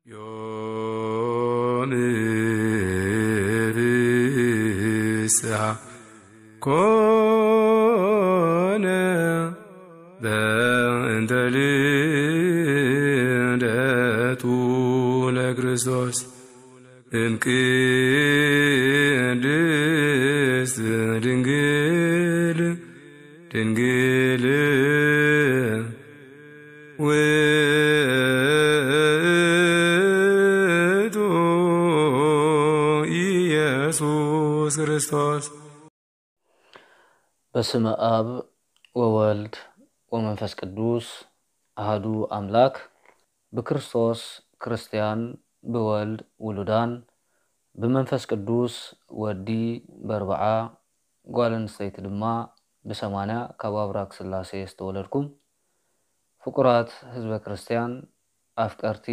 ዮም ፍስሓ ኮነ በእንተ ልደቱ ለክርስቶስ እምቅድስት ድንግል ድንግል ውእቱ ኢየሱስ ክርስቶስ። በስመ አብ ወወልድ ወመንፈስ ቅዱስ አሐዱ አምላክ። ብክርስቶስ ክርስቲያን፣ ብወልድ ውሉዳን፣ ብመንፈስ ቅዱስ ወዲ በርብዓ፣ ጓል ኣንስተይቲ ድማ ብሰማንያ ካብ ኣብራክ ስላሴ ዝተወለድኩም ፍቁራት ህዝበ ክርስቲያን፣ ኣፍቀርቲ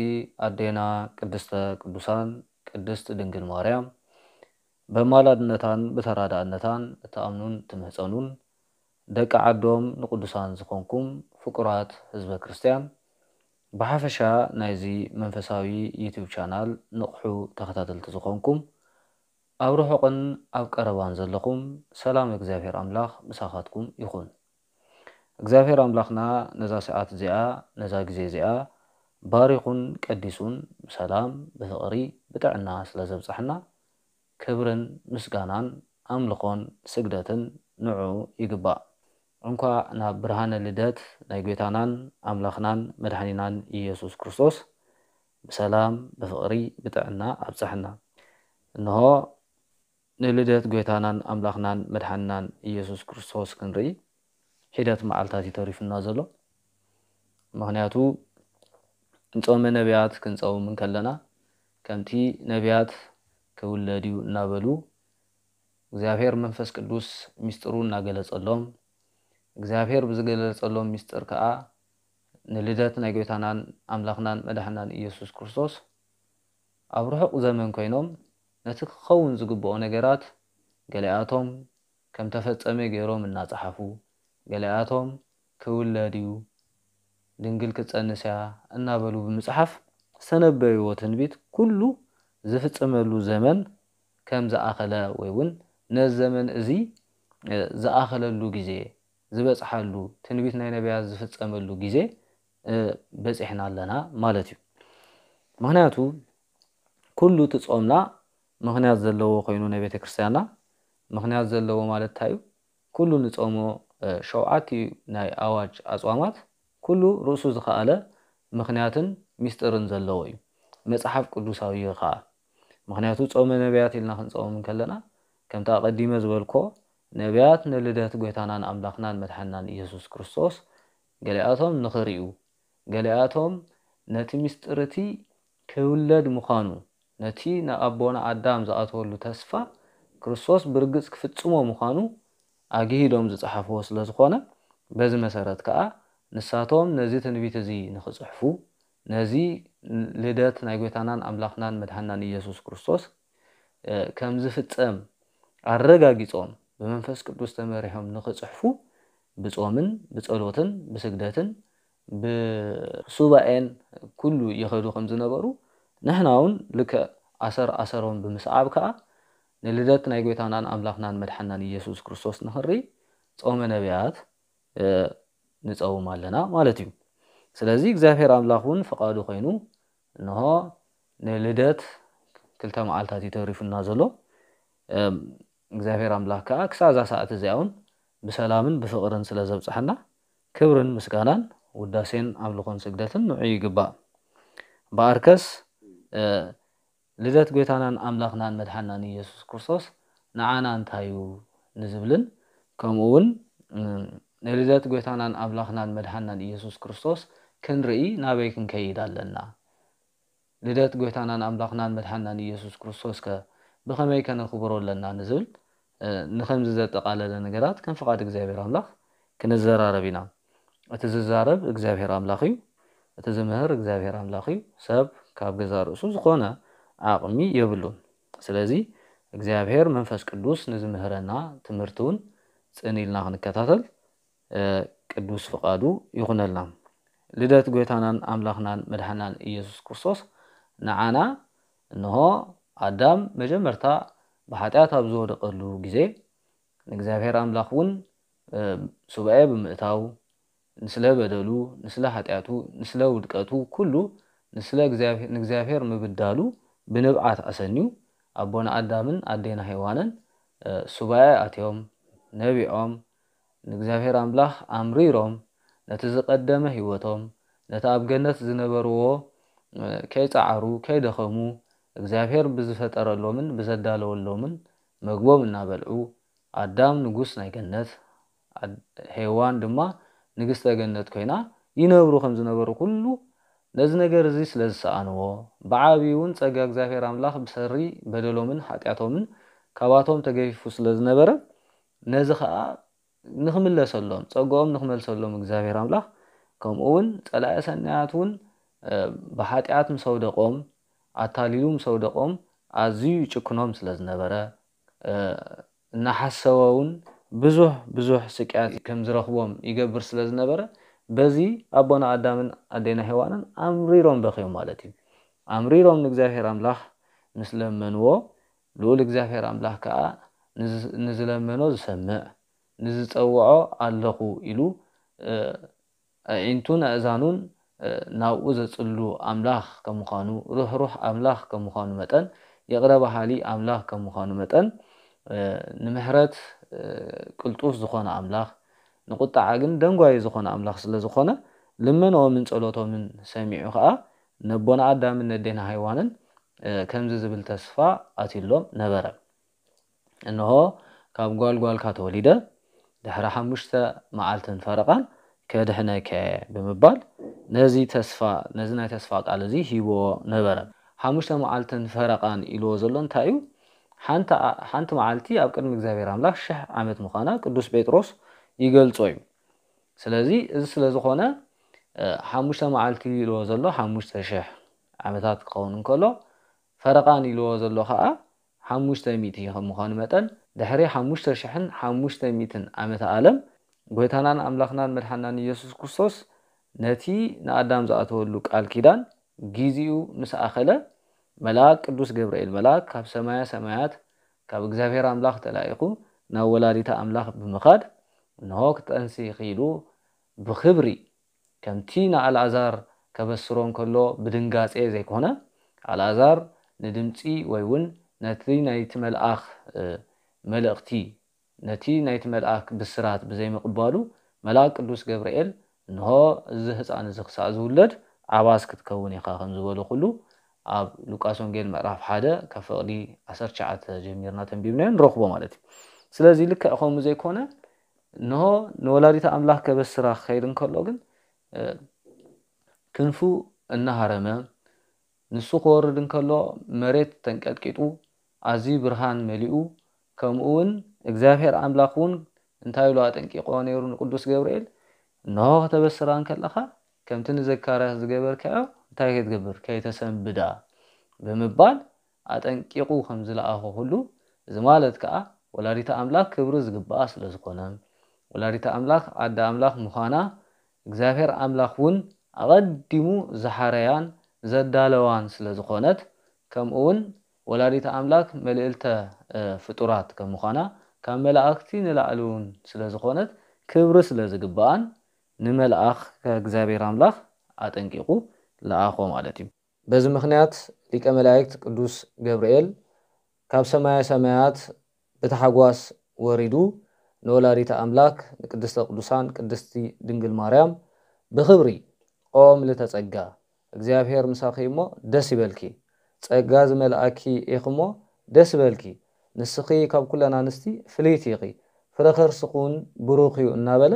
ኣዴና ቅድስተ ቅዱሳን ቅድስት ድንግል ማርያም፣ በማላድነታን ብተራዳእነታን እትኣምኑን ትምህጸኑን፣ ደቂ ዓዶም ንቅዱሳን ዝኾንኩም ፍቁራት ህዝበ ክርስቲያን፣ ብሓፈሻ ናይዚ መንፈሳዊ ዩቲዩብ ቻናል ንቕሑ ተኸታተልቲ ዝኾንኩም፣ ኣብ ርሑቕን ኣብ ቀረባን ዘለኹም፣ ሰላም እግዚኣብሔር ኣምላኽ ምሳኻትኩም ይኹን። እግዚኣብሔር ኣምላኽና ነዛ ሰዓት እዚኣ፣ ነዛ ግዜ እዚኣ ባሪኹን ቀዲሱን ብሰላም፣ ብፍቕሪ፣ ብጥዕና ስለ ዘብጽሐና፣ ክብርን ምስጋናን ኣምልኾን ስግደትን ንዑ ይግባእ። እንኳዕ ናብ ብርሃነ ልደት ናይ ጐይታናን ኣምላኽናን መድሓኒናን ኢየሱስ ክርስቶስ ብሰላም፣ ብፍቕሪ፣ ብጥዕና ኣብጽሐና። እንሆ ንልደት ጐይታናን ኣምላኽናን መድሓኒናን ኢየሱስ ክርስቶስ ክንርኢ ሒደት መዓልታት እዩ ተሪፉና ዘሎ። ምኽንያቱ ንጾመ ነቢያት ክንጸውም እንከለና፣ ከምቲ ነቢያት ክውለድ እዩ እናበሉ፣ እግዚኣብሔር መንፈስ ቅዱስ ሚስጥሩ እናገለጸሎም፣ እግዚኣብሔር ብዝገለጸሎም ሚስጥር ከኣ ንልደት ናይ ጐይታናን ኣምላኽናን መድሓናን ኢየሱስ ክርስቶስ ኣብ ርሑቕ ዘመን ኮይኖም ነቲ ክኸውን ዝግብኦ ነገራት ገሊኣቶም ከም ተፈጸመ ገይሮም እናጸሓፉ፣ ገሊኣቶም ክውለድ እዩ፣ ድንግል ክትጸንስ እያ እናበሉ ብምጽሓፍ ዝተነበይዎ ትንቢት ኩሉ ዝፍጸመሉ ዘመን ከም ዝኣኸለ ወይ እውን ነዚ ዘመን እዚ፣ እ፣ ዝኣኸለሉ ግዜ፣ ዝበጽሓሉ፣ ትንቢት ናይ ነቢያት ዝፍጸመሉ ግዜ፣ እ፣ በጺሕና ኣለና ማለት እዩ። ምኽንያቱ ኩሉ እቲ ጾምና ምኽንያት ዘለዎ ኮይኑ ናይ ቤተ ክርስቲያንና ምኽንያት ዘለዎ ማለት እንታይ እዩ? ኩሉ ንጾሞ፣ እ፣ ሸውዓቲኡ ናይ ኣዋጅ ኣጽዋማት ኩሉ ርእሱ ዝኸኣለ ምኽንያትን ሚስጥርን ዘለዎ እዩ። መጽሓፍ ቅዱሳዊ እዩ ኸኣ። ምኽንያቱ ጾመ ነቢያት ኢልና ክንጸውም እንከለና፣ ከምቲ ኣቐዲመ ዝበልኮ፣ ነቢያት ንልደት ጐይታናን ኣምላኽናን መድሓንናን ኢየሱስ ክርስቶስ ገሊኣቶም ንኽርእዩ፣ ገሊኣቶም ነቲ ሚስጥር እቲ ክውለድ ምዃኑ፣ ነቲ ንኣቦና ኣዳም ዝኣተወሉ ተስፋ ክርስቶስ ብርግጽ ክፍጽሞ ምዃኑ ኣግሂዶም ዝጸሓፍዎ ስለ ዝኾነ፣ በዚ መሰረት ከኣ ንሳቶም ነዚ ትንቢት እዚ ንኽጽሕፉ፣ ነዚ ልደት ናይ ጐይታናን ኣምላኽናን መድሓንናን ኢየሱስ ክርስቶስ፣ እ፣ ከም ዝፍጸም ኣረጋጊጾም ብመንፈስ ቅዱስ ተመሪሖም ንኽጽሕፉ ብጾምን ብጸሎትን ብስግደትን ብሱባኤን ኩሉ ይኸዱ ከም ዝነበሩ፣ ንሕና እውን ልክዕ ኣሰር ኣሰሮም ብምስዓብ ከኣ ንልደት ናይ ጐይታናን ኣምላኽናን መድሓንናን ኢየሱስ ክርስቶስ ንኽንርኢ ጾመ ነቢያት፣ እ፣ ንጸውም ኣለና ማለት እዩ። ስለዚ እግዚኣብሔር ኣምላኽ እውን ፍቓዱ ኮይኑ እንሆ ንልደት ክልተ መዓልታት እዩ ተሪፉና ዘሎ። እም፣ እግዚኣብሔር ኣምላኽ ከኣ ክሳብ እዛ ሰዓት እዚኣ እውን ብሰላምን ብፍቕርን ስለ ዘብጽሐና ክብርን ምስጋናን ውዳሴን ኣምልኾን ስግደትን ንዑ ይግባእ። እምበኣርከስ፣ እ፣ ልደት ጐይታናን ኣምላኽናን መድሓንናን ኢየሱስ ክርስቶስ ንዓና እንታይ እዩ ንዝብልን፣ ከምኡ እውን፣ እም፣ ንልደት ጐይታናን ኣምላኽናን መድሓንናን ኢየሱስ ክርስቶስ ክንርኢ ናበይ ክንከይድ ኣለና? ልደት ጐይታናን ኣምላኽናን መድሓንናን ኢየሱስ ክርስቶስ ከ ብኸመይ ከነኽብሮ ኣለና ንዝብል፣ እ፣ ንኸምዚ ዘጠቓለለ ነገራት ከም ፍቓድ እግዚኣብሔር ኣምላኽ ክንዘራረብ ኢና። እቲ ዝዛረብ እግዚኣብሔር ኣምላኽ እዩ። እቲ ዝምህር እግዚኣብሔር ኣምላኽ እዩ። ሰብ ካብ ገዛእ ርእሱ ዝኾነ ዓቕሚ የብሉን። ስለዚ እግዚኣብሔር መንፈስ ቅዱስ ንዝምህረና ትምህርቲ እውን ጽን ኢልና ክንከታተል፣ እ፣ ቅዱስ ፍቓዱ ይኹነልና። ልደት ጐይታናን ኣምላኽናን መድሓናን ኢየሱስ ክርስቶስ ንዓና እንሆ ኣዳም መጀመርታ ብሓጢኣት ኣብ ዝወደቐሉ ግዜ ንእግዚኣብሔር ኣምላኽ እውን ሱባኤ ብምእታው ንስለ በደሉ፣ ንስለ ሓጢኣቱ፣ ንስለ ውድቀቱ ኩሉ ንስለ ንእግዚኣብሔር ምብዳሉ ብንብዓት ኣሰንዩ ኣቦና ኣዳምን ኣዴና ሄዋንን ሱባኤ ኣትዮም ነቢዖም ንእግዚኣብሔር ኣምላኽ ኣምሪሮም ነቲ ዝቐደመ ህይወቶም ነቲ ኣብ ገነት ዝነበርዎ ከይጸዓሩ ከይደኸሙ እግዚኣብሔር ብዝፈጠረሎምን ብዘዳለወሎምን መግቦም እናበልዑ ኣዳም ንጉስ ናይ ገነት ሄዋን ድማ ንግስተ ገነት ኮይና ይነብሩ ከም ዝነበሩ ኩሉ ነዚ ነገር እዚ ስለ ዝሰኣንዎ ብዓብዩ እውን ጸጋ እግዚኣብሔር ኣምላኽ ብሰሪ በደሎምን ሓጢኣቶምን ካባቶም ተገፊፉ ስለ ዝነበረ ነዚ ከዓ ንኽምለሰሎም ጸግኦም ንኽመልሰሎም እግዚኣብሔር ኣምላኽ ከምኡ እውን ጸላኢ ሰናያት እውን ብሓጢኣት ምስ ኣውደቖም ኣታሊሉ ምስ ኣውደቖም ኣዝዩ ይጭክኖም ስለ ዝነበረ እናሓሰወ እውን ብዙሕ ብዙሕ ስቅያት ከም ዝረኽቦም ይገብር ስለ ዝነበረ በዚ ኣቦና ኣዳምን ኣዴና ሄዋንን ኣምሪሮም በኽዮም ማለት እዩ። ኣምሪሮም ንእግዚኣብሔር ኣምላኽ ምስ ለመንዎ ልኡል እግዚኣብሔር ኣምላኽ ከዓ ንዝለመኖ ዝሰምዕ ንዝጸውዖ ኣለኹ ኢሉ ኣዒንቱን ኣእዛኑን ናብኡ ዘጽሉ ኣምላኽ ከም ምዃኑ ርህሩህ ኣምላኽ ከም ምዃኑ መጠን ይቕረ በሃሊ ኣምላኽ ከም ምዃኑ መጠን ንምሕረት ቅልጡፍ ዝኾነ ኣምላኽ ንቁጣዓ ግን ደንጓዩ ዝኾነ ኣምላኽ ስለ ዝኾነ ልመንኦምን ጸሎቶምን ሰሚዑ ከዓ ነቦና ኣዳምን ነዴና ሃይዋንን ከምዚ ዝብል ተስፋ ኣትሎም ነበረ። እንሆ ካብ ጓል ጓልካ ተወሊደ ድሕሪ ሓሙሽተ መዓልትን ፈረቓን ከድሕነከ ብምባል ነዚ ተስፋ ነዚ ናይ ተስፋ ቃል እዚ ሂብዎ ነበረ። ሓሙሽተ መዓልትን ፈረቓን ኢልዎ ዘሎ እንታይ እዩ? ሓንቲ መዓልቲ ኣብ ቅድሚ እግዚኣብሔር ኣምላኽ ሽሕ ዓመት ምዃና ቅዱስ ጴጥሮስ ይገልጾ እዩ። ስለዚ እዚ ስለ ዝኾነ ሓሙሽተ መዓልቲ ኢልዎ ዘሎ ሓሙሽተ ሽሕ ዓመታት ክኸውን እንከሎ ፈረቓን ኢልዎ ዘሎ ከዓ ሓሙሽተ ሚእቲ ከም ምዃኑ መጠን ድሕሪ ሓሙሽተ ሽሕን ሓሙሽተ ሚእትን ዓመተ ዓለም ጎይታናን ኣምላኽናን መድሓናን ኢየሱስ ክርስቶስ ነቲ ንኣዳም ዝኣተወሉ ቃል ኪዳን ጊዜኡ ምስ ኣኸለ መልኣክ ቅዱስ ገብርኤል መልኣክ ካብ ሰማያ ሰማያት ካብ እግዚኣብሔር ኣምላኽ ተላኢኹ ናብ ወላዲተ ኣምላኽ ብምኻድ እንሆ ክጠንሲ ኢኺ ኢሉ ብኽብሪ ከምቲ ንኣልኣዛር ከበስሮ እንከሎ ብድንጋጼ ዘይኮነ ኣልኣዛር ንድምጺ ወይ እውን ነቲ ናይቲ መልኣኽ መልእኽቲ ነቲ ናይቲ መልኣክ ብስራት ብዘይምቕባሉ መልኣክ ቅዱስ ገብርኤል እንሆ እዚ ህፃን እዚ ክሳዕ ዝውለድ ዓባስ ክትከውን ኢኻ ከም ዝበሎ ኩሉ ኣብ ሉቃስ ወንጌል ምዕራፍ ሓደ ካብ ፍቕዲ ዓሰርተ ትሽዓተ ጀሚርና ተንቢብናዮ ንረኽቦ ማለት እዩ። ስለዚ ልክዕ ከምኡ ዘይኮነ እንሆ ንወላዲት ኣምላኽ ከበስራ ክኸይድ እንከሎ ግን ክንፉ እናሃረመ ንሱ ክወርድ እንከሎ መሬት ተንቀጥቂጡ ኣዝዩ ብርሃን መሊኡ ከምኡ እውን እግዚኣብሔር ኣምላኽ እውን እንታይ ኢሉ ኣጠንቂቕዎ ነይሩ ንቅዱስ ገብርኤል እንሆ ከተበስራ እንከለኻ ከምቲ ንዘካርያስ ዝገበርካዮ እንታይ ከይትገብር ከይተሰንብዳ ብምባል ኣጠንቂቑ ከም ዝለኣኾ ኩሉ እዚ ማለት ከዓ ወላዲተ ኣምላኽ ክብሪ ዝግብኣ ስለ ዝኾነ ወላዲተ ኣምላኽ ኣደ ኣምላኽ ምዃና እግዚኣብሔር ኣምላኽ እውን ኣቐዲሙ ዝሓረያን ዘዳለዋን ስለ ዝኾነት ከምኡ እውን ወላዲተ ኣምላክ መልእልተ ፍጡራት ከም ምዃና ካብ መላእክቲ ንላዕሊ እውን ስለ ዝኾነት ክብሪ ስለ ዝግብኣን ንመልኣኽ ከእግዚኣብሔር ኣምላኽ ኣጠንቂቑ ለኣኾ ማለት እዩ። በዚ ምኽንያት ሊቀ መላእክት ቅዱስ ገብርኤል ካብ ሰማየ ሰማያት ብታሕጓስ ወሪዱ ንወላዲተ ኣምላክ ንቅድስተ ቅዱሳን ቅድስቲ ድንግል ማርያም ብኽብሪ ኦ ምልእተ ጸጋ እግዚኣብሔር ምሳኺ እሞ ደስ ይበልኪ፣ ጸጋ ዝመልኣኪ ኢኺ እሞ ደስ ይበልኪ፣ ንስኺ ካብ ኩለን ኣንስቲ ፍልይቲ ኢኺ፣ ፍረ ከርስኺ እውን ብሩኽ እዩ እናበለ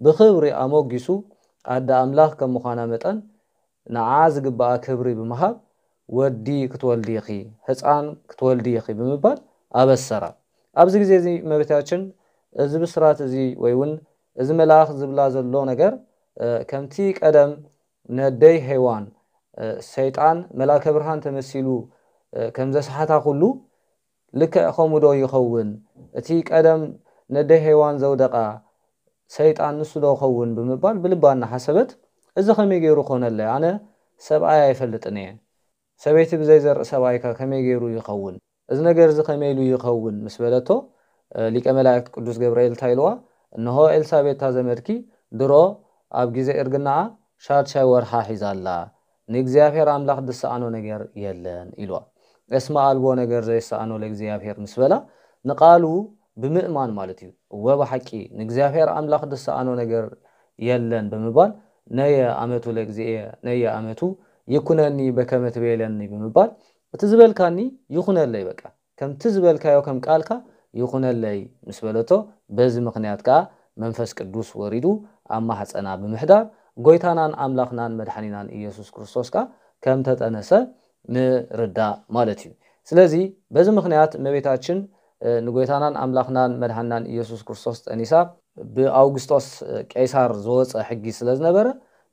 ብኽብሪ ኣሞጊሱ ኣደ ኣምላኽ ከም ምዃና መጠን ንዓ ዝግብኣ ክብሪ ብምሃብ ወዲ ክትወልዲ ኢኺ፣ ህፃን ክትወልዲ ኢኺ ብምባል ኣበሰራ። ኣብዚ ግዜ እዚ እመቤታችን እዚ ብስራት እዚ ወይ እውን እዚ መልኣኽ ዝብላ ዘሎ ነገር ከምቲ ቀደም ነደይ ሄዋን ሰይጣን መልኣከ ብርሃን ተመሲሉ ከም ዘስሓታ ኩሉ ልክዕ ከምኡ ዶ ይኸውን? እቲ ቀደም ነደይ ሄዋን ዘውደቓ ሰይጣን ንሱ ዶ ኸውን ብምባል ብልባ እናሓሰበት እዚ ከመይ ገይሩ ኮነለይ? ኣነ ሰብኣይ ኣይፈልጥን እየ። ሰበይቲ ብዘይ ዘርኢ ሰብኣይከ ከመይ ገይሩ ይኸውን? እዚ ነገር እዚ ከመይ ኢሉ ይኸውን? ምስ በለቶ፣ እ፣ ሊቀ መላእክት ቅዱስ ገብርኤል እንታይ ኢልዋ? እንሆ ኤልሳቤጥ እታ ዘመድኪ ድሮ ኣብ ግዜ እርግናኣ ሻድሻይ ወርሓ ሒዛ ኣላ፣ ንእግዚኣብሔር ኣምላኽ ዝሰኣኖ ነገር የለን ኢልዋ። እስመ ኣልቦ ነገር ዘይሰኣኖ ለእግዚኣብሔር ምስ በላ፣ ንቃሉ ብምእማን ማለት እዩ። እወ ብሓቂ ንእግዚኣብሔር ኣምላኽ ዝሰኣኖ ነገር የለን ብምባል፣ ነየ ኣመቱ ለእግዚእየ፣ ነየ ኣመቱ ይኩነኒ በከመ ትቤለኒ ብምባል፣ እቲ ዝበልካኒ ይኹነለይ፣ በቃ ከምቲ ዝበልካዮ ከም ቃልካ ይኹነለይ ምስ በለቶ፣ በዚ ምኽንያት ከኣ መንፈስ ቅዱስ ወሪዱ ኣብ ማሕፀና ብምሕዳር፣ ጎይታናን ኣምላኽናን መድሓኒናን ኢየሱስ ክርስቶስ ከኣ ከም ተጠነሰ ንርዳእ ማለት እዩ። ስለዚ በዚ ምኽንያት እመቤታችን፣ እ፣ ንጎይታናን ኣምላኽናን መድሓኒናን ኢየሱስ ክርስቶስ ጠኒሳ፣ ብኣውግስጦስ፣ እ፣ ቄሳር ዝወፀ ሕጊ ስለ ዝነበረ፣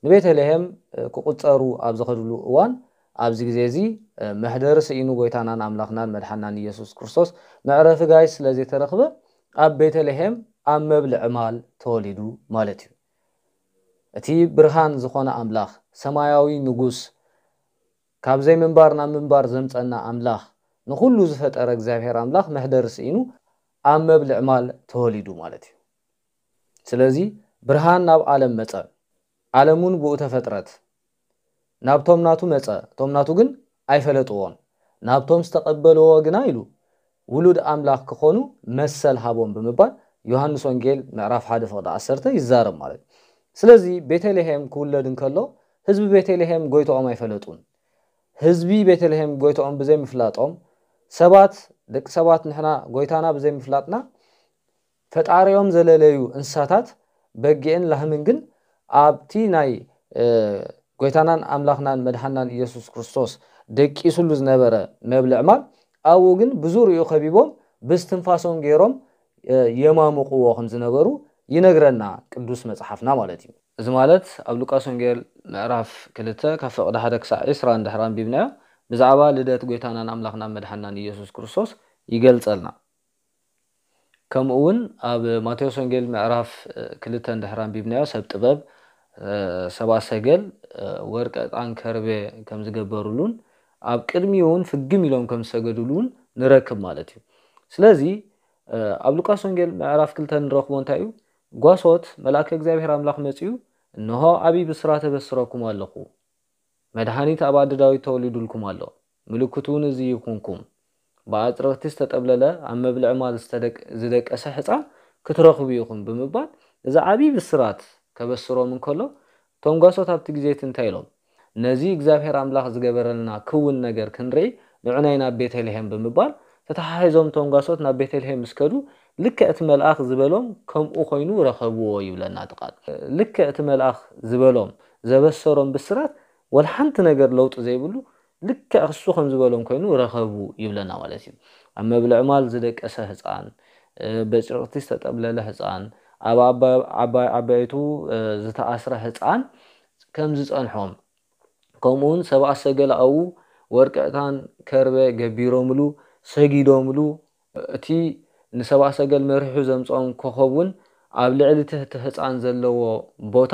ንቤተልሔም፣ እ፣ ክቁፀሩ ኣብ ዝኸድሉ እዋን፣ ኣብዚ ግዜ እዚ፣ እ፣ መሕደሪ ስኢኑ ጎይታናን ኣምላኽናን መድሓኒናን ኢየሱስ ክርስቶስ መዕረፊ ጋይስ ስለ ዘይተረኽበ፣ ኣብ ቤተልሔም ኣብ መብልዒ ማል ተወሊዱ ማለት እዩ። እቲ ብርሃን ዝኾነ ኣምላኽ፣ ሰማያዊ ንጉስ፣ ካብ ዘይምንባር ናብ ምንባር ዘምጸና ኣምላኽ፣ ንኹሉ ዝፈጠረ እግዚኣብሔር ኣምላኽ መሕደሪ ስኢኑ ኣብ መብልዕ ማል ተወሊዱ ማለት እዩ። ስለዚ ብርሃን ናብ ዓለም መጸ፣ ዓለም እውን ብኡ ተፈጥረት። ናብቶም ናቱ መጸ፣ እቶም ናቱ ግን ኣይፈለጥዎን። ናብቶም ዝተቐበልዎ ግና ኢሉ ውሉድ ኣምላኽ ክኾኑ መሰል ሃቦም ብምባል ዮሃንስ ወንጌል ምዕራፍ ሓደ ፍቕዲ ዓሰርተ ይዛረብ ማለት እዩ። ስለዚ ቤተልሔም ክውለድ እንከሎ ህዝቢ ቤተልሔም ጎይታኦም ኣይፈለጡን። ህዝቢ ቤተልሔም ጎይታኦም ብዘይምፍላጦም ሰባት፣ ደቂ ሰባት ንሕና ጎይታና ብዘይምፍላጥና ፈጣሪኦም ዘለለዩ እንስሳታት በጊዕን ላህምን ግን ኣብቲ ናይ፣ እ፣ ጎይታናን ኣምላኽናን መድሓናን ኢየሱስ ክርስቶስ ደቂሱሉ ዝነበረ መብልዕ ማል ኣብኡ ግን ብዙርይኡ ከቢቦም ብስትንፋሶም ገይሮም፣ እ፣ የማሙቕዎ ከም ዝነበሩ ይነግረና ቅዱስ መጽሓፍና ማለት እዩ። እዚ ማለት ኣብ ሉቃስ ወንጌል ምዕራፍ ክልተ ካብ ፍቕዲ ሓደ ክሳዕ ዕስራ እንድሕር ኣንቢብናዮ ብዛዕባ ልደት ጎይታናን ኣምላኽናን መድሓናን ኢየሱስ ክርስቶስ ይገልጸልና። ከምኡ እውን ኣብ ማቴዎስ ወንጌል ምዕራፍ፣ እ፣ ክልተ እንድሕር ኣንቢብናዮ ሰብ ጥበብ፣ እ፣ ሰብኣ ሰገል፣ እ፣ ወርቂ፣ ዕጣን፣ ከርቤ ከም ዝገበሩሉን ኣብ ቅድሚኡ እውን ፍግም ኢሎም ከም ዝሰገዱሉ እውን ንረክብ ማለት እዩ። ስለዚ፣ እ፣ ኣብ ሉቃስ ወንጌል ምዕራፍ ክልተ ንረኽቦ እንታይ እዩ? ጓሶት መልኣከ እግዚኣብሔር ኣምላኽ መጺኡ፣ "እንሆ ዓብዪ ብስራት እበስረኩም ኣለኹ፣ መድሓኒት ኣብ ኣደ ዳዊት ተወሊዱልኩም ኣሎ፣ ምልክቱ እውን እዚ ይኹንኩም፣ ብኣጭርቕቲ ዝተጠብለለ ኣብ መብልዒ ማል ዝተደቅ-፣ ዝደቀሰ ሕፃን ክትረኽቡ ኢኹም" ብምባል እዚ ዓብዪ ብስራት ከበስሮም እንከሎ፣ እቶም ጓሶት ኣብቲ ግዜ እቲ እንታይ ኢሎም? "ነዚ እግዚኣብሔር ኣምላኽ ዝገበረልና ክውን ነገር ክንርኢ ንዑናይ ናብ ቤተልሔም" ብምባል ተተሓሒዞም እቶም ጓሶት ናብ ቤተልሔም ምስ ከዱ፣ ልክዕ እቲ መልኣኽ ዝበሎም ከምኡ ኮይኑ ረኸብዎ ይብለና እቲ ቃል። ልክዕ እቲ መልኣኽ ዝበሎም ዘበሰሮም ብስራት ወላ ሓንቲ ነገር ለውጢ ዘይብሉ ልክዕ እሱ ከም ዝበሎም ኮይኑ ረኸቡ ይብለና ማለት እዩ። ኣብ መብልዕ ማል ዝደቀሰ ህፃን፣ እ፣ በጭርቕቲ ዝተጠብለለ ህፃን፣ ኣብ ኣባ-፣ ዓባይ ዓባይቱ፣ እ፣ ዝተኣስረ ህፃን ከም ዝፀንሖም፣ ከምኡውን ሰብኣ ሰገል ኣብኡ ወርቂ፣ ዕጣን፣ ከርበ ገቢሮምሉ፣ ሰጊዶምሉ፣ እቲ ንሰብኣ ሰገል መሪሑ ዘምፅኦም ኮኸብ እውን ኣብ ልዕሊ እቲ ህፃን ዘለዎ ቦታ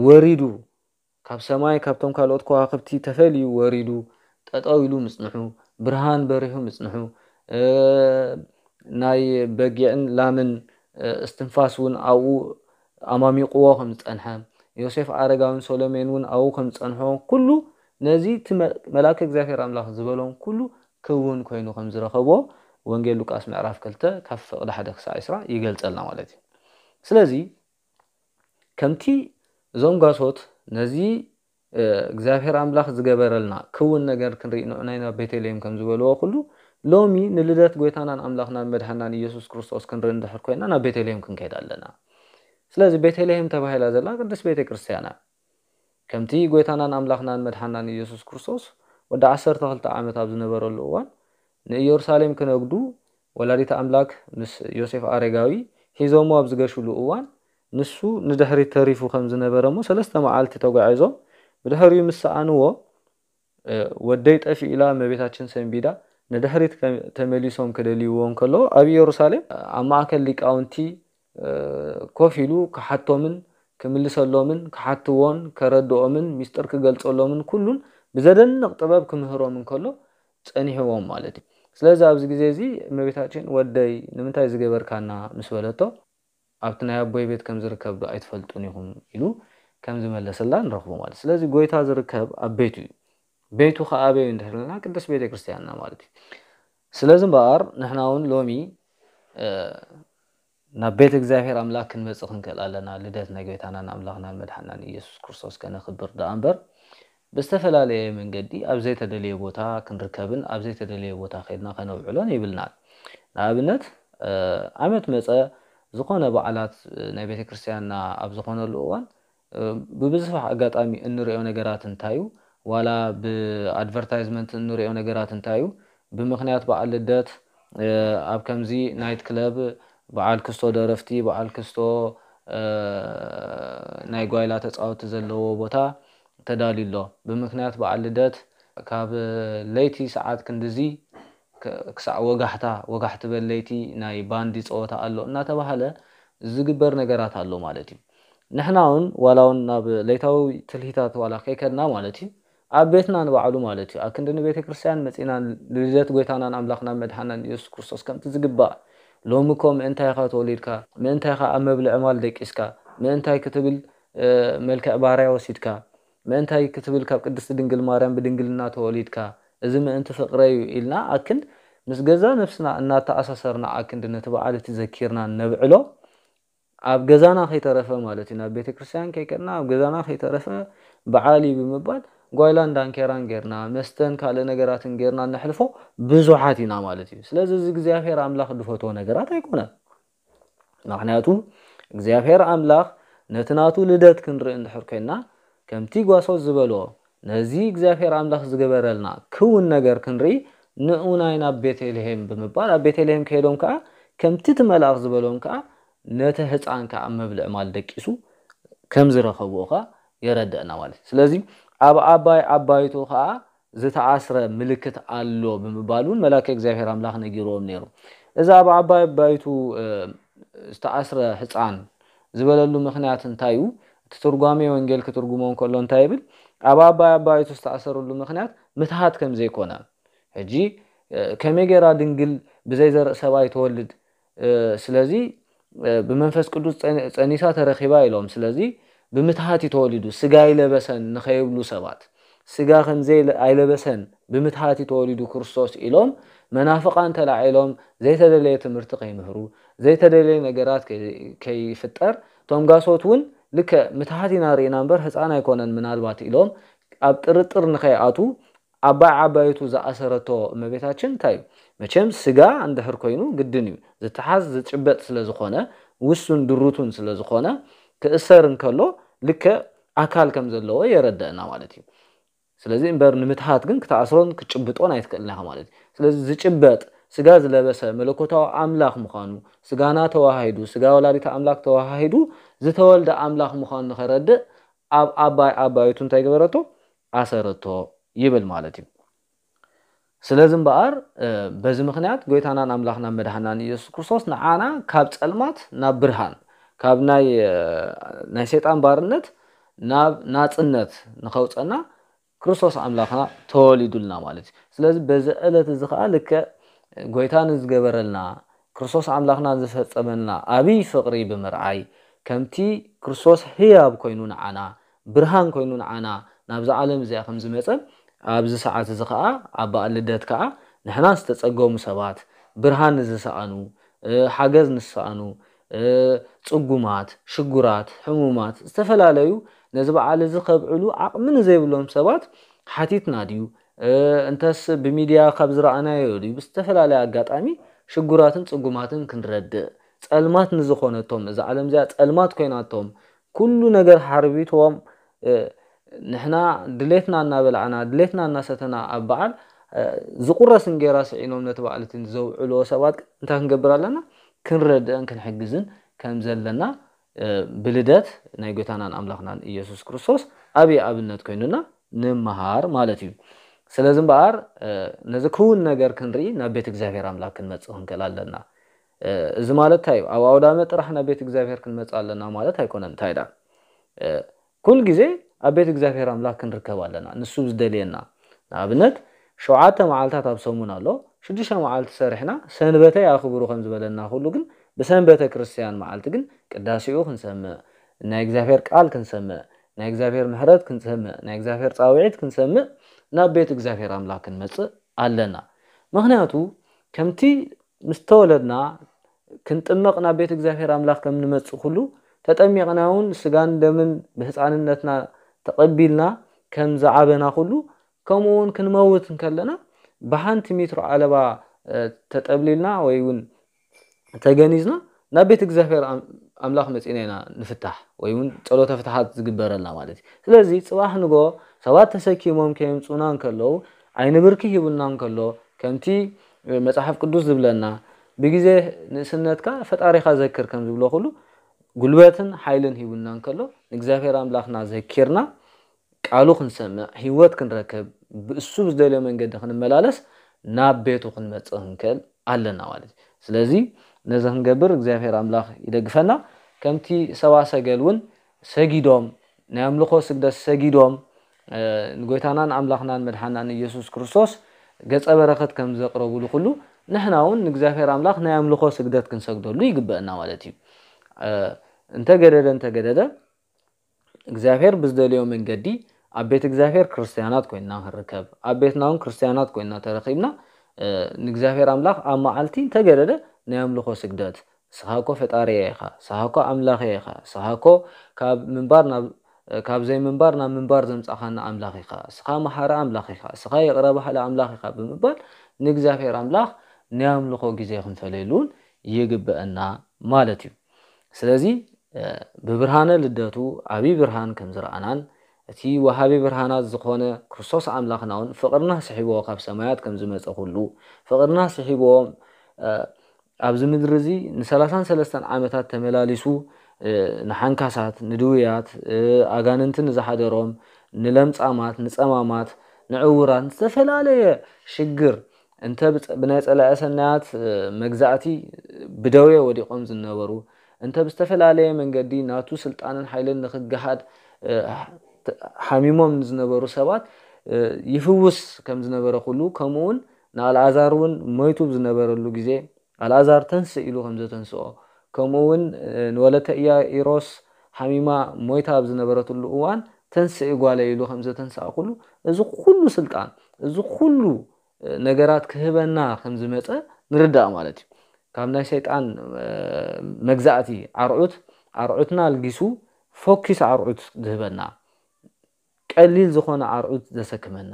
ወሪዱ፣ ካብ ሰማይ ካብቶም ካልኦት ከዋኽብቲ ተፈልዩ ወሪዱ፣ ጠጠው ኢሉ ምጽንሑ፣ ብርሃን በሪሁ ምጽንሑ፣ እ፣ ናይ በጊዕን ላምን፣ እ፣ እስትንፋስ እውን ኣብኡ ኣማሚቕዎ ከም ዝጸንሐ፣ ዮሴፍ ኣረጋውን ሶሎሜን እውን ኣብኡ ከም ዝጸንሖ፣ ኩሉ ነዚ እቲ መ-፣ መልኣከ እግዚኣብሔር ኣምላኽ ዝበሎም ኩሉ ክውን ኮይኑ ከም ዝረኸቦ ወንጌል ሉቃስ ምዕራፍ ክልተ ካብ ፍቕዲ ሓደ ክሳዕ ዕስራ ይገልጸልና ማለት እዩ። ስለዚ ከምቲ እዞም ጓሶት ነዚ፣ እ፣ እግዚኣብሔር ኣምላኽ ዝገበረልና ክውን ነገር ክንርኢ ንዑናይ ናብ ቤተልሔም ከም ዝበልዎ ኩሉ፣ ሎሚ ንልደት ጐይታናን ኣምላኽናን መድሓናን ኢየሱስ ክርስቶስ ክንርኢ እንድሕር ኮይና ናብ ቤተልሔም ክንከይድ ኣለና። ስለዚ ቤተልሔም ተባሂላ ዘላ ቅድስት ቤተ ክርስቲያን እያ። ከምቲ ጐይታናን ኣምላኽናን መድሓናን ኢየሱስ ክርስቶስ ወዲ ዓሰርተ ክልተ ዓመት ኣብ ዝነበረሉ እዋን ንኢየሩሳሌም ክነግዱ ወላዲት ኣምላክ ምስ ዮሴፍ ኣረጋዊ ሒዞሞ ኣብ ዝገሹሉ እዋን፣ ንሱ ንድሕሪት ተሪፉ ከም ዝነበረ እሞ፣ ሰለስተ መዓልቲ ተጓዒዞም ብድሕሪኡ ምስ ሰኣንዎ፣ እ፣ "ወደይ ጠፊኡ" ኢላ እመቤታችን ሰንቢዳ፣ ንድሕሪት ከ-፣ ተመሊሶም ክደልይዎ እንከለዉ፣ ኣብ ኢየሩሳሌም ኣብ ማእከል ሊቃውንቲ፣ እ፣ ኮፍ ኢሉ ክሓቶምን ክምልሰሎምን ክሓትዎን ከረድኦምን ሚስጥር ክገልጸሎምን ኩሉን ብዘደንቕ ጥበብ ክምህሮም እንከሎ ጸኒሕዎም ማለት እዩ። ስለዚ ኣብዚ ግዜ እዚ እመቤታችን "ወደይ ንምንታይ ዝገበርካና?" ምስ በለቶ፣ "ኣብቲ ናይ ኣቦይ ቤት ከም ዝርከብ ዶ ኣይትፈልጡን ኢኹም?" ኢሉ ከም ዝመለሰላ ንረኽቦ ማለት። ስለዚ ጎይታ ዝርከብ ኣብ ቤቱ እዩ። ቤቱ ከኣ ኣበይ እንድሕር ኢልና ቅድስት ቤተ ክርስቲያንና ማለት እዩ። ስለዚ እምበኣር ንሕና እውን ሎሚ ናብ ቤት እግዚኣብሔር ኣምላኽ ክንመጽእ ክንክእል ኣለና። ልደት ናይ ጎይታናን ኣምላኽናን መድሓናን ኢየሱስ ክርስቶስ ከነኽብር ደኣ እምበር ብዝተፈላለየ መንገዲ ኣብ ዘይተደለየ ቦታ ክንርከብን ኣብ ዘይተደለየ ቦታ ከይድና ከነውዕሎን የብልናን። ንኣብነት ዓመት መጸ ዝኾነ በዓላት ናይ ቤተ ክርስቲያንና ኣብ ዝኾነሉ እዋን ብብዙሕ ኣጋጣሚ እንሪኦ ነገራት እንታይ እዩ? ዋላ ብኣድቨርታይዝመንት እንሪኦ ነገራት እንታይ እዩ? ብምኽንያት በዓል ልደት ኣብ ከምዚ ናይት ክለብ በዓል ክስቶ ደረፍቲ፣ በዓል ክስቶ ናይ ጓይላ ተጻወቲ ዘለዎ ቦታ ተዳልዩ ኣሎ። ብምኽንያት በዓል ልደት ካብ ለይቲ ሰዓት ክንድዚ ክሳዕ ወጋሕታ፣ ወጋሕቲ በል ለይቲ ናይ ባንዲ ጸወታ ኣሎ እናተባህለ ዝግበር ነገራት ኣሎ ማለት እዩ። ንሕና እውን ዋላ እውን ናብ ለይታዊ ትልሂታት ዋላ ከይከድና ማለት እዩ፣ ኣብ ቤትና ንባዕሉ ማለት እዩ፣ ኣክንዲ ንቤተ ክርስቲያን መጺና ልደት ጎይታናን ኣምላኽናን መድሓናን ኢየሱስ ክርስቶስ ከምቲ ዝግባእ፣ ሎሚ እኮ ምእንታይ ኢኻ ተወሊድካ? ምእንታይ ኢኻ ኣብ መብልዒ ማል ደቂስካ? ምእንታይ ክትብል መልክዕ ባርያ ወሲድካ? ምእንታይ ክትብል ካብ ቅድስቲ ድንግል ማርያም ብድንግልና ተወሊድካ? እዚ ምእንቲ ፍቕረይ እዩ ኢልና ኣክንድ ምስ ገዛ ነፍስና እናተኣሳሰርና ኣክንዲ ነቲ በዓል እቲ ዘኪርና ነብዕሎ። ኣብ ገዛና ከይተረፈ ማለት እዩ፣ ናብ ቤተ ክርስቲያን ከይከድና ኣብ ገዛና ከይተረፈ በዓል እዩ ብምባል ጓይላን ዳንኬራን ጌርና፣ መስተን ካልእ ነገራትን ጌርና ነሕልፎ ብዙሓት ኢና ማለት እዩ። ስለዚ እዚ እግዚኣብሔር ኣምላኽ ዝፈትዎ ነገራት ኣይኮነን። ምኽንያቱ እግዚኣብሔር ኣምላኽ ነቲ ናቱ ልደት ክንርኢ እንድሕር ኮይንና ከምቲ ጓሶት ዝበሎ ነዚ እግዚኣብሔር ኣምላኽ ዝገበረልና ክውን ነገር ክንርኢ ንዑ ናይ ናብ ቤተልሔም ብምባል ኣብ ቤተልሔም ከይዶም ከኣ ከምቲ እቲ መልኣኽ ዝበሎም ከኣ ነቲ ህፃን ከኣ መብልዕ ማል ደቂሱ ከም ዝረኸብዎ ከኣ የረድእና ማለት እዩ። ስለዚ ኣብ ኣባይ ኣባይቱ ከኣ ዝተኣስረ ምልክት ኣሎ ብምባል እውን መላከ እግዚኣብሔር ኣምላኽ ነጊርዎም ነይሩ። እዚ ኣብ ኣባይ ኣባይቱ ዝተኣስረ ህፃን ዝበለሉ ምኽንያት እንታይ እዩ? እቲ ትርጓሜ ወንጌል ክትርጉሞ እንከሎ እንታይ ይብል? ኣብ ኣባይ ኣባይቱ ዝተኣሰረሉ ምኽንያት ምትሃት ከም ዘይኮነ። ሕጂ ከመይ ገይራ ድንግል ብዘይ ዘርኢ ሰብኣይ ትወልድ? ስለዚ ብመንፈስ ቅዱስ ጸኒሳ ተረኺባ ኢሎም። ስለዚ ብምትሃት እዩ ተወሊዱ፣ ስጋ ኣይለበሰን ንኸይብሉ ሰባት፣ ስጋ ከም ኣይለበሰን ብምትሃት እዩ ተወሊዱ ክርስቶስ ኢሎም መናፍቓን ተላዒሎም ዘይተደለየ ትምህርቲ ከይምህሩ፣ ዘይተደለየ ነገራት ከይፍጠር፣ እቶም ጋሶት እውን ልክዕ ምትሃት ኢና ርኢና እምበር ህፃን ኣይኮነን ምናልባት ኢሎም ኣብ ጥርጥር ንኸይኣቱ ኣባይ ዓባይቱ ዝኣሰረቶ እመቤታችን እንታይ እዩ? መቸም ስጋ እንድሕር ኮይኑ ግድን እዩ። ዝተሓዝ ዝጭበጥ ስለ ዝኾነ፣ ውሱን ድሩቱን ስለ ዝኾነ፣ ክእሰር እንከሎ ልክዕ ኣካል ከም ዘለዎ የረድአና ማለት እዩ። ስለዚ እምበር ንምትሃት ግን ክትኣስሮን ክትጭብጦን ኣይትክእልን ኢኻ ማለት እዩ። ስለዚ ዝጭበጥ ስጋ ዝለበሰ መለኮታዊ ኣምላኽ ምዃኑ፣ ስጋና ተዋሃሂዱ፣ ስጋ ወላዲተ ኣምላኽ ተዋሃሂዱ ዝተወልደ ኣምላኽ ምዃኑ ንኸረድእ ኣብ ኣባይ ኣባይቱ እንታይ ገበረቶ? ኣሰረቶ ይብል ማለት እዩ። ስለዚ እምበኣር በዚ ምኽንያት ጎይታናን ኣምላኽናን መድሓናን ኢየሱስ ክርስቶስ ንዓና ካብ ጸልማት ናብ ብርሃን፣ ካብ ናይ ናይ ሰይጣን ባርነት ናብ ናጽነት ንኸውፀና ክርስቶስ ኣምላኽና ተወሊዱልና ማለት እዩ። ስለዚ በዚ ዕለት እዚ ኸዓ ልክዕ ጎይታ ንዝገበረልና ክርስቶስ ኣምላኽና ዝፈጸመልና ኣብይ ፍቕሪ ብምርኣይ ከምቲ ክርስቶስ ህያብ ኮይኑ ንዓና ብርሃን ኮይኑ ንዓና ናብዛ ዓለም እዚኣ ከም ዝመጸ ኣብዚ ሰዓት እዚ ኸዓ ኣብ በዓል ልደት ከኣ ንሕና ዝተጸገሙ ሰባት ብርሃን ንዝሰኣኑ ሓገዝ ንዝሰኣኑ ጽጉማት፣ ሽጉራት፣ ሕሙማት፣ ዝተፈላለዩ ነዚ በዓል እዚ ከብዕሉ ዓቕሚ ንዘይብሎም ሰባት ሓቲትና ድዩ? እንተስ ብሚድያ ካብ ዝረኣናዮ ድዩ? ብዝተፈላለየ ኣጋጣሚ ሽጉራትን ጽጉማትን ክንረድእ፣ ጸልማት ንዝኾነቶም፣ እዛ ዓለም እዚኣ ጸልማት ኮይናቶም፣ ኩሉ ነገር ሓርቢትዎም፣ ንሕና ድሌትና እናበላዕና፣ ድሌትና እናሰተና ኣብ በዓል ዝቁረስ እንጌራ ስዒኖም ነቲ በዓል እቲ ዘውዕልዎ ሰባት ግን እንታይ ክንገብር ኣለና? ክንረድእን ክንሕግዝን ከም ዘለና ብልደት ናይ ጎይታናን ኣምላኽናን ኢየሱስ ክርስቶስ ኣብይ ኣብነት ኮይኑና ንምሃር ማለት እዩ። ስለዚ እምበኣር ነዚ ክውን ነገር ክንርኢ ናብ ቤት እግዚኣብሔር ኣምላኽ ክንመጽእ ክንክእል ኣለና። እዚ ማለት እንታይ እዩ? ኣብ ኣውዳመ ጥራሕ ናብ ቤት እግዚኣብሔር ክንመጽእ ኣለና ማለት ኣይኮነን። እንታይ ደኣ? ኩል ግዜ ኣብ ቤት እግዚኣብሔር ኣምላኽ ክንርከብ ኣለና። ንሱ ዝደልየና፣ ንኣብነት፣ ሸውዓተ መዓልታት ኣብ ሰሙን ኣሎ። ሽዱሽተ መዓልቲ ሰሪሕና ሰንበተይ ኣኽብሩ ከም ዝበለና ኩሉ፣ ግን ብሰንበተ ክርስትያን መዓልቲ ግን ቅዳሴኡ ክንሰምዕ፣ ናይ እግዚኣብሔር ቃል ክንሰምዕ፣ ናይ እግዚኣብሔር ምሕረት ክንሰምዕ፣ ናይ እግዚኣብሔር ጻውዒት ክንሰምዕ ናብ ቤት እግዚኣብሔር ኣምላኽ ክንመጽእ ኣለና። ምኽንያቱ ከምቲ ምስ ተወለድና ክንጥመቕ ናብ ቤት እግዚኣብሔር ኣምላኽ ከም ንመጽእ ኩሉ፣ ተጠሚቕና እውን ስጋን ደምን ብህፃንነትና ተቐቢልና ከም ዝዓበና ኩሉ፣ ከምኡ እውን ክንመውት እንከለና ብሓንቲ ሚትሮ ዓለባ ተጠብሊልና ወይ እውን ተገኒዝና ናብ ቤት እግዚኣብሔር ኣምላኽ መፂና ኢና ንፍታሕ ወይ እውን ፀሎተ ፍትሓት ዝግበረልና ማለት እዩ። ስለዚ ፅባሕ ንጎ ሰባት ተሰኪሞም ከየምፁና እንከለዉ፣ ዓይኒ ብርኪ ሂቡና እንከሎ፣ ከምቲ መፅሓፍ ቅዱስ ዝብለና፣ ብግዜ ንእስነትካ ፈጣሪኻ ዘክር ከም ዝብሎ ኩሉ፣ ጉልበትን ሓይልን ሂቡና እንከሎ፣ ንእግዚኣብሔር ኣምላኽና ዘኪርና ቃሉ ክንሰምዕ፣ ህይወት ክንረክብ፣ ብእሱ ብዝደልዮ መንገዲ ክንመላለስ ናብ ቤቱ ክንመጽእ ክንክእል ኣለና ማለት እዩ። ስለዚ ነዚ ክንገብር እግዚኣብሔር ኣምላኽ ይደግፈና። ከምቲ ሰባ ሰገል እውን ሰጊዶም፣ ናይ ኣምልኾ ስግደት ሰጊዶም፣ ንጎይታናን ኣምላኽናን መድሓናን ኢየሱስ ክርስቶስ ገጸ በረኸት ከም ዘቕረቡሉ ኩሉ፣ ንሕና እውን ንእግዚኣብሔር ኣምላኽ ናይ ኣምልኾ ስግደት ክንሰግደሉ ይግበአና ማለት እዩ። እንተገደደ እንተገደደ እግዚኣብሔር ብዝደልዮ መንገዲ ኣብ ቤት እግዚኣብሔር ክርስትያናት ኮይንና ክንርከብ፣ ኣብ ቤትና እውን ክርስትያናት ኮይንና ተረኺብና ንእግዚኣብሔር ኣምላኽ ኣብ መዓልቲ እንተገደደ ናይ ኣምልኾ ስግደት፣ ንስኻ እኮ ፈጣሪየ ኢኻ፣ ንስኻ እኮ ኣምላኸየ ኢኻ፣ ንስኻ እኮ ካብ ምንባር ናብ ካብ ዘይምንባር ናብ ምንባር ዘምጻኻና ኣምላኽ ኢኻ፣ ንስኻ መሓሪ ኣምላኽ ኢኻ፣ ንስኻ ይቕረ ባሃሊ ኣምላኽ ኢኻ ብምባል ንእግዚኣብሔር ኣምላኽ ናይ ኣምልኾ ግዜ ክንፈለየሉ እውን ይግበአና ማለት እዩ። ስለዚ ብብርሃነ ልደቱ ዓብዪ ብርሃን ከም ዝረኣናን እቲ ወሃቢ ብርሃናት ዝኾነ ክርስቶስ ኣምላኽና እውን ፍቕርና ስሒብዎ ካብ ሰማያት ከም ዝመጸ ኩሉ ፍቕርና ስሒብዎ ኣብዚ ምድሪ እዚ ንሰላሳን ሰለስተን ዓመታት ተመላሊሱ ንሓንካሳት፣ ንድውያት፣ ኣጋንንቲ ንዝሓደሮም፣ ንለምጻማት፣ ንጸማማት፣ ንዕውራት፣ ዝተፈላለየ ሽግር እንተ ብናይ ጸላኢ ሰናያት መግዛእቲ ብደዌ ወዲቖም ዝነበሩ፣ እንተ ብዝተፈላለየ መንገዲ ናቱ ስልጣንን ሓይልን ንኽገሃድ ሓሚሞም ንዝነበሩ ሰባት ይፍውስ ከም ዝነበረ ኩሉ፣ ከምኡ እውን ንኣልኣዛር እውን ሞይቱ ብዝነበረሉ ግዜ ኣልኣዛር ተንስእ ኢሉ ከም ዘተንስኦ፣ ከምኡ እውን ንወለተ ኢያኢሮስ ሓሚማ ሞይታ ኣብ ዝነበረትሉ እዋን ተንስእ ጓለይ ኢሉ ከም ዘተንስኣ ኩሉ፣ እዚ ኩሉ ስልጣን፣ እዚ ኩሉ ነገራት ክህበና ከም ዝመጸ ንርዳእ ማለት እዩ። ካብ ናይ ሰይጣን መግዛእቲ ኣርዑት ኣርዑትና ኣልጊሱ ፎኪስ ኣርዑት ዝህበና፣ ቀሊል ዝኾነ ኣርዑት ዘሰክመና፣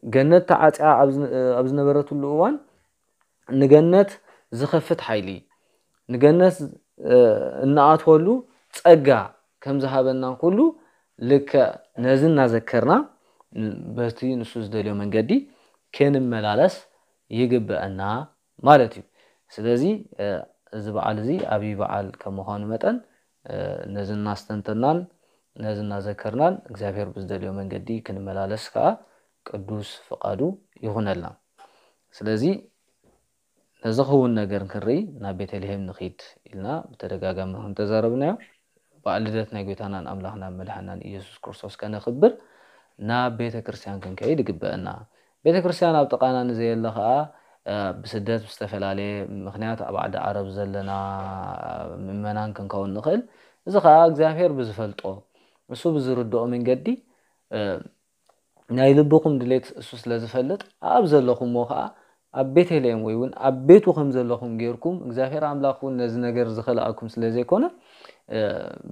ገነት ተዓጽያ ኣብ ዝነበረትሉ እዋን ንገነት ዝኸፍት ሓይሊ፣ ንገነት እንኣትወሉ ጸጋ ከም ዝሃበና ኩሉ፣ ልክዕ ነዚ እናዘከርና በቲ ንሱ ዝደልዮ መንገዲ ክንመላለስ ይግበአና ማለት እዩ። ስለዚ እዚ በዓል እዚ ዓብዪ በዓል ከም ምዃኑ መጠን ነዚ እናስተንተናን ነዚ እናዘከርናን እግዚኣብሔር ብዝደልዮ መንገዲ ክንመላለስ ከዓ ቅዱስ ፍቓዱ ይኹነልና። ስለዚ ነዚ ክውን ነገር ክንርኢ ናብ ቤተልሔም ንኺድ ኢልና ብተደጋጋሚ ከም ተዛረብናዮ፣ በዓል ልደት ናይ ጎይታናን ኣምላኽናን መድሓናን ኢየሱስ ክርስቶስ ከነኽብር ናብ ቤተ ክርስቲያን ክንከይድ ይግበአና። ቤተ ክርስቲያን ኣብ ጥቓና ንዘየለ ኸዓ ብስደት ብዝተፈላለየ ምኽንያት ኣብ ዓዲ ዓረብ ዘለና ምእመናን ክንከውን ንኽእል። እዚ ኸዓ እግዚኣብሔር ብዝፈልጦ እሱ ብዝርድኦ መንገዲ ናይ ልብኹም ድሌት እሱ ስለ ዝፈልጥ ኣብ ዘለኹምዎ ኸዓ ኣብ ቤተልሔም ወይ እውን ኣብ ቤቱ ከም ዘለኹም ጌርኩም እግዚኣብሔር ኣምላኽ እውን ነዚ ነገር ዝኸልኣኩም ስለ ዘይኮነ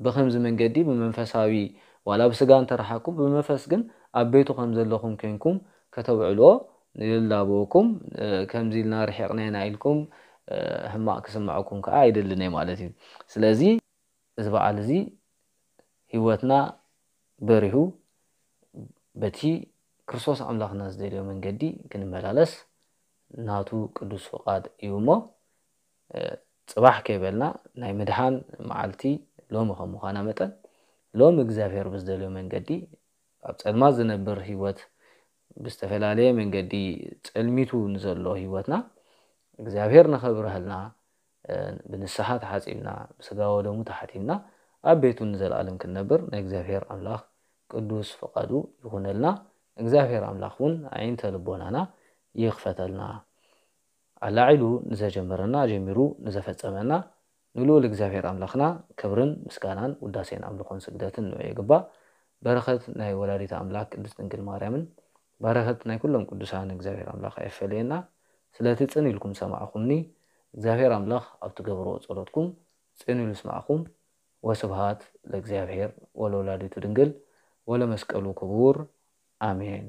ብኸምዚ መንገዲ ብመንፈሳዊ ዋላ ብስጋ እንተረሓኩም ብመንፈስ ግን ኣብ ቤቱ ከም ዘለኹም ኮይንኩም ከተብዕልዎ ይላበወኩም። ከምዚ ኢልና ርሒቕና ኢና ኢልኩም ሕማቕ ክስምዐኩም ከዓ ኣይደልን እየ ማለት እዩ። ስለዚ እዚ በዓል እዚ ህይወትና በሪሁ በቲ ክርስቶስ ኣምላኽና ዝደልዮ መንገዲ ክንመላለስ ናቱ ቅዱስ ፍቓድ እዩ እሞ ፅባሕ ከይበልና ናይ ምድሓን መዓልቲ ሎሚ ከም ምዃና መጠን ሎሚ እግዚኣብሔር ብዝደልዮ መንገዲ ኣብ ፀልማት ዝነብር ህይወት ብዝተፈላለየ መንገዲ ጸልሚቱ ንዘሎ ህይወትና እግዚኣብሔር ንኸብርሀልና ብንስሓ ተሓጺብና ብስጋ ወደሙ ተሓቲምና ኣብ ቤቱ ንዘለኣለም ክንነብር ናይ እግዚኣብሔር ኣምላኽ ቅዱስ ፍቓዱ ይኹነልና። እግዚኣብሔር ኣምላኽ እውን ኣዒንተ ልቦናና ይኽፈተልና። ኣላዒሉ ንዘጀመረና ጀሚሩ ንዘፈጸመና ንልኡል እግዚኣብሔር ኣምላኽና ክብርን ምስጋናን ውዳሴን ኣምልኾን ስግደትን ንዑ ይግባእ። በረኸት ናይ ወላዲት ኣምላኽ ቅድስት ድንግል ማርያምን በረኸት ናይ ኩሎም ቅዱሳን እግዚኣብሔር ኣምላኽ ኣይፈለየና። ስለቲ ጽን ኢልኩም ሰማዕኹምኒ እግዚኣብሔር ኣምላኽ ኣብ ትገብርዎ ጸሎትኩም ጽን ኢሉ ይስማዕኹም። ወስብሃት ለእግዚኣብሔር ወለወላዲቱ ድንግል ወለመስቀሉ ክቡር ኣሜን።